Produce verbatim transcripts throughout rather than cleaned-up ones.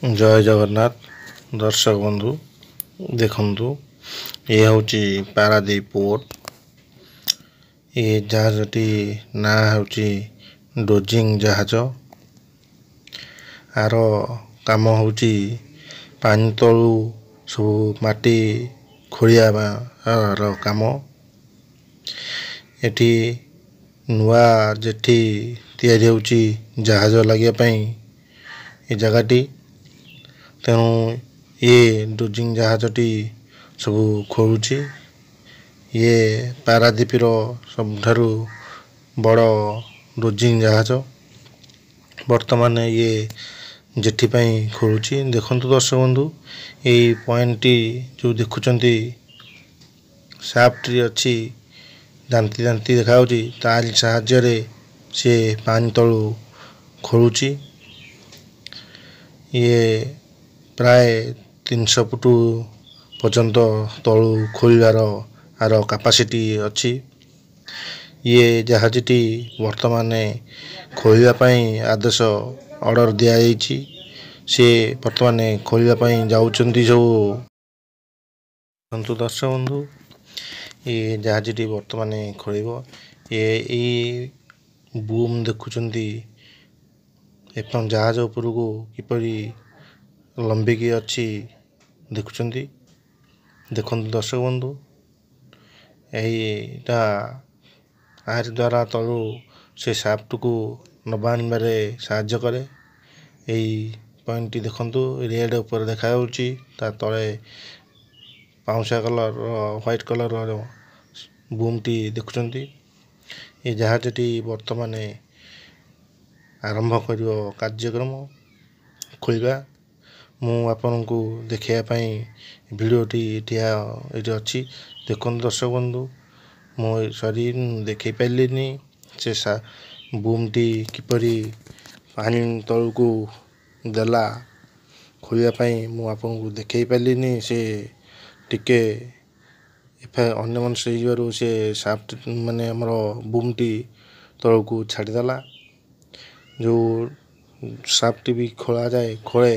ଜୟ ଜଗନ୍ନାଥ ଦର୍ଶକ ବନ୍ଧୁ, ଦେଖନ୍ତୁ, ଇଏ ହେଉଛି ପାରାଦୀପ ପୋର୍ଟ। ଏ ଜାହାଜଟି ନାଁ ହେଉଛି ଡୋଜିଂ ଜାହାଜ। ଆର କାମ ହେଉଛି ପାଣି ତଳୁ ସବୁ ମାଟି ଖୋଳିବାର କାମ। ଏଠି ନୂଆ ଜେଟି ତିଆରି ହେଉଛି ଜାହାଜ ଲାଗିବା ପାଇଁ ଏ ଜାଗାଟି। ତେଣୁ ଇଏ ଡୋଜିଂ ଜାହାଜଟି ସବୁ ଖୋଳୁଛି। ଇଏ ପାରାଦ୍ୱୀପର ସବୁଠାରୁ ବଡ଼ ଡୋଜିଂ ଜାହାଜ। ବର୍ତ୍ତମାନ ଇଏ ଜେଟି ପାଇଁ ଖୋଳୁଛି। ଦେଖନ୍ତୁ ଦର୍ଶକ ବନ୍ଧୁ, ଏଇ ପଏଣ୍ଟଟି ଯେଉଁ ଦେଖୁଛନ୍ତି, ସାଫ୍ଟଟି ଅଛି, ଦାନ୍ତି ଦାନ୍ତି ଦେଖାଯାଉଛି, ତାରି ସାହାଯ୍ୟରେ ସିଏ ପାଣି ତଳୁ ଖୋଳୁଛି। ଇଏ ପ୍ରାୟ ତିନିଶହ ଫୁଟ ପର୍ଯ୍ୟନ୍ତ ତଳୁ ଖୋଳିବାର ଆର କାପାସିଟି ଅଛି। ଇଏ ଜାହାଜଟି ବର୍ତ୍ତମାନ ଖୋଳିବା ପାଇଁ ଆଦେଶ, ଅର୍ଡ଼ର ଦିଆଯାଇଛି। ସିଏ ବର୍ତ୍ତମାନ ଖୋଳିବା ପାଇଁ ଯାଉଛନ୍ତି ସବୁ। ଦେଖନ୍ତୁ ଦର୍ଶକ ବନ୍ଧୁ, ଏ ଜାହାଜଟି ବର୍ତ୍ତମାନ ଖୋଳିବ। ଏ ଏଇ ବୁମ୍ ଦେଖୁଛନ୍ତି ଏବଂ ଜାହାଜ ଉପରକୁ କିପରି ଲମ୍ବିକି ଅଛି ଦେଖୁଛନ୍ତି। ଦେଖନ୍ତୁ ଦର୍ଶକ ବନ୍ଧୁ, ଏଇଟା ଆରି ଦ୍ୱାରା ତଳୁ ସେ ସାଫ୍ଟକୁ ନେବା ଆଣିବାରେ ସାହାଯ୍ୟ କରେ। ଏଇ ପଏଣ୍ଟଟି ଦେଖନ୍ତୁ, ରେଡ଼୍ ଉପରେ ଦେଖାଯାଉଛି, ତା ତଳେ ପାଉଁଶିଆ କଲର୍ର, ହ୍ୱାଇଟ୍ କଲର୍ର ବୁମ୍ଟି ଦେଖୁଛନ୍ତି। ଏ ଜାହାଜଟି ବର୍ତ୍ତମାନ ଆରମ୍ଭ କରିବ କାର୍ଯ୍ୟକ୍ରମ ଖୋଳିବା। ମୁଁ ଆପଣଙ୍କୁ ଦେଖାଇବା ପାଇଁ ଭିଡ଼ିଓଟି ଏଠି ଏଇଠି ଅଛି। ଦେଖନ୍ତୁ ଦର୍ଶକ ବନ୍ଧୁ, ମୁଁ ସରି, ଦେଖାଇ ପାରିଲିନି ସେ ବୁମ୍ଟି କିପରି ପାଣି ତଳକୁ ଦେଲା ଖୋଳିବା ପାଇଁ। ମୁଁ ଆପଣଙ୍କୁ ଦେଖାଇ ପାରିଲିନି। ସେ ଟିକେ ଅନ୍ୟମନସ୍କ ହେଇଯିବାରୁ ସେ ସାଫ୍ଟ, ମାନେ ଆମର ବୁମ୍ଟି ତଳକୁ ଛାଡ଼ିଦେଲା। ଯେଉଁ ସାଫ୍ଟଟି ବି ଖୋଳାଯାଏ, ଖୋଳେ,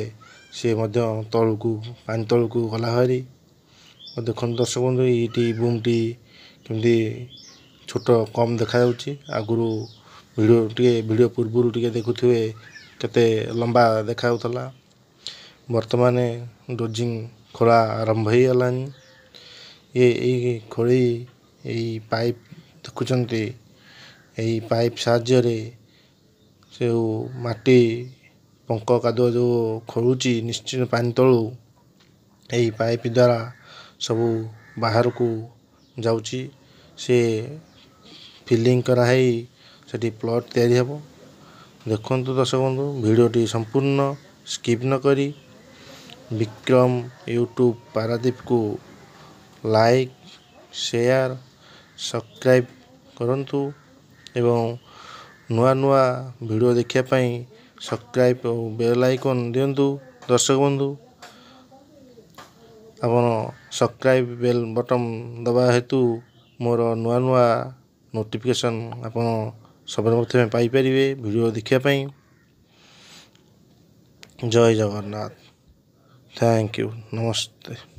ସିଏ ମଧ୍ୟ ତଳକୁ, ପାଣି ତଳକୁ ଗଲା ଭାରି। ଦେଖନ୍ତୁ ଦର୍ଶକ ବନ୍ଧୁ, ଏଇଠି ବୁମ୍ଟି କେମିତି ଛୋଟ କମ୍ ଦେଖାଯାଉଛି। ଆଗରୁ ଭିଡ଼ିଓ ଟିକେ, ଭିଡ଼ିଓ ପୂର୍ବରୁ ଟିକେ ଦେଖୁଥିବେ କେତେ ଲମ୍ବା ଦେଖାଯାଉଥିଲା। ବର୍ତ୍ତମାନ ଡୋଜିଂ ଖୋଳା ଆରମ୍ଭ ହେଇଗଲାଣି। ଇଏ ଏଇ ଖୋଳି, ଏଇ ପାଇପ୍ ଦେଖୁଛନ୍ତି, ଏଇ ପାଇପ୍ ସାହାଯ୍ୟରେ ଯେଉଁ ମାଟି ପଙ୍କ କାଦୁଅ ଯେଉଁ ଖୋଳୁଛି ନିଶ୍ଚିତ ପାଣି ତଳୁ, ଏଇ ପାଇପ୍ ଦ୍ୱାରା ସବୁ ବାହାରକୁ ଯାଉଛି। ସେ ଫିଲିଂ କରାହେଇ ସେଠି ପ୍ଲଟ୍ ତିଆରି ହେବ। ଦେଖନ୍ତୁ ଦର୍ଶକ ବନ୍ଧୁ, ଭିଡ଼ିଓଟି ସମ୍ପୂର୍ଣ୍ଣ ସ୍କିପ୍ ନ କରି ବିକ୍ରମ ୟୁଟ୍ୟୁବ୍ ପାରାଦୀପକୁ ଲାଇକ୍, ସେୟାର, ସବସ୍କ୍ରାଇବ୍ କରନ୍ତୁ ଏବଂ ନୂଆ ନୂଆ ଭିଡ଼ିଓ ଦେଖିବା ପାଇଁ ସବସ୍କ୍ରାଇବ୍ ଓ ବେଲ୍ ଆଇକନ୍ ଦିଅନ୍ତୁ। ଦର୍ଶକ ବନ୍ଧୁ, ଆପଣ ସବସ୍କ୍ରାଇବ୍ ବେଲ୍ ବଟନ୍ ଦେବା ହେତୁ ମୋର ନୂଆ ନୂଆ ନୋଟିଫିକେସନ୍ ଆପଣ ସର୍ବପ୍ରଥମେ ପାଇପାରିବେ ଭିଡ଼ିଓ ଦେଖିବା ପାଇଁ। ଜୟ ଜଗନ୍ନାଥ, thank you, Namaste.